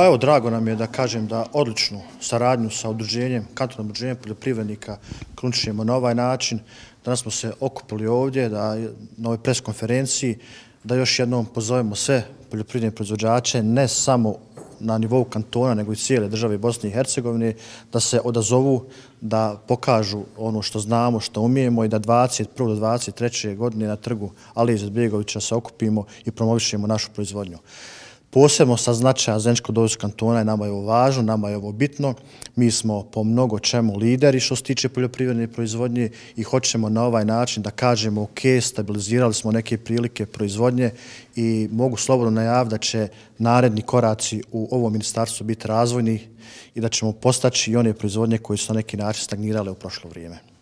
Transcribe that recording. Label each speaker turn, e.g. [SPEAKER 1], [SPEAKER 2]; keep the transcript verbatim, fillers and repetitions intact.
[SPEAKER 1] Evo, drago nam je da kažem da odličnu saradnju sa udruženjem, kantonalnim udruženjem poljoprivrednika kruničimo na ovaj način. Danas smo se okupili ovdje da, na ovoj pres konferenciji da još jednom pozovemo sve poljoprivredne proizvođače, ne samo na nivou kantona, nego i cijele države Bosne i Hercegovine, da se odazovu, da pokažu ono što znamo, što umijemo i da dvadeset prve do dvadeset treće godine na trgu Alije Izetbegovića se okupimo i promovišemo našu proizvodnju. Posebno sa značaja Zeničko-Dobojskog kantona je nama je ovo važno, nama je ovo bitno. Mi smo po mnogo čemu lideri što se tiče poljoprivredne proizvodnje i hoćemo na ovaj način da kažemo ok, stabilizirali smo neke prilike proizvodnje i mogu slobodno najaviti da će naredni koraci u ovom ministarstvu biti razvojni i da ćemo postaći i one proizvodnje koje su na neki način stagnirale u prošlo vrijeme.